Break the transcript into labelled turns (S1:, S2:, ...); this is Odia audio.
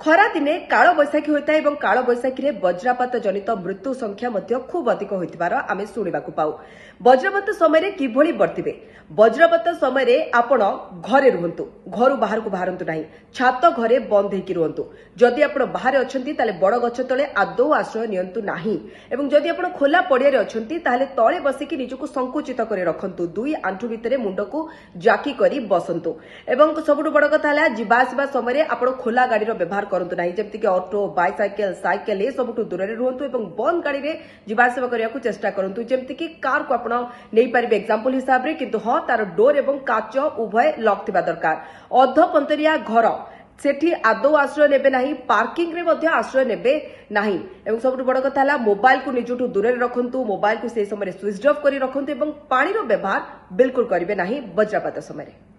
S1: ଖରାଦିନେ କାଳବୈଶାଖୀ ହୋଇଥାଏ ଏବଂ କାଳବୈଶାଖୀରେ ବଜ୍ରପାତ ଜନିତ ମୃତ୍ୟୁ ସଂଖ୍ୟା ମଧ୍ୟ ଖୁବ୍ ଅଧିକ ହୋଇଥିବାର ଆମେ ଶୁଣିବାକୁ ପାଉ। ବଜ୍ରପାତ ସମୟରେ କିଭଳି ବର୍ତ୍ତିବେ? ବଜ୍ରପାତ ସମୟରେ ଆପଣ ଘରେ ରୁହନ୍ତୁ, ଘରୁ ବାହାରକୁ ବାହାରନ୍ତୁ ନାହିଁ, ଛାତ ଘରେ ବନ୍ଦ ହେଇକି ରୁହନ୍ତୁ। ଯଦି ଆପଣ ବାହାରେ ଅଛନ୍ତି, ତାହେଲେ ବଡ଼ ଗଛ ତଳେ ଆଦୌ ଆଶ୍ରୟ ନିଅନ୍ତୁ ନାହିଁ ଏବଂ ଯଦି ଆପଣ ଖୋଲା ପଡ଼ିଆରେ ଅଛନ୍ତି, ତାହେଲେ ତଳେ ବସିକି ନିଜକୁ ସଙ୍କୁଚିତ କରି ରଖନ୍ତୁ, ଦୁଇ ଆଣ୍ଠୁ ଭିତରେ ମୁଣ୍ଡକୁ ଜାକି କରି ବସନ୍ତୁ। ଏବଂ ସବୁଠୁ ବଡ଼ କଥା ହେଲା, ଯିବା ଆସିବା ସମୟରେ ଆପଣ ଖୋଲା ଗାଡ଼ିର ବ୍ୟବହାର କରନ୍ତୁ ନାହିଁ, ଯେମିତିକି ଅଟୋ, ବାଇସାଇକେଲ, ସାଇକେଲ ଏସବୁଠୁ ଦୂରରେ ରୁହନ୍ତୁ ଏବଂ ବନ୍ଦ ଗାଡ଼ିରେ ଯିବା ଆସିବା କରିବାକୁ ଚେଷ୍ଟା କରନ୍ତୁ। ଯେମିତିକି କାରକୁ ଆପଣ ନେଇପାରିବେ ଏକ୍ସାମ୍ପଲ ହିସାବରେ, କିନ୍ତୁ ହଁ, ତାର ଡୋର ଏବଂ କାଚ ଉଭୟ ଲକ୍ ଥିବା ଦରକାର। ଅଧପନ୍ତରିଆ ଘର, ସେଠି ଆଦୌ ଆଶ୍ରୟ ନେବେ ନାହିଁ, ପାର୍କିଂରେ ମଧ୍ୟ ଆଶ୍ରୟ ନେବେ ନାହିଁ। ଏବଂ ସବୁଠୁ ବଡ଼ କଥା ହେଲା, ମୋବାଇଲକୁ ନିଜଠୁ ଦୂରରେ ରଖନ୍ତୁ, ମୋବାଇଲକୁ ସେହି ସମୟରେ ସୁଇଚ୍ ଅଫ୍ କରି ରଖନ୍ତୁ ଏବଂ ପାଣିର ବ୍ୟବହାର ବିଲକୁଲ କରିବେ ନାହିଁ ବଜ୍ରପାତ ସମୟରେ।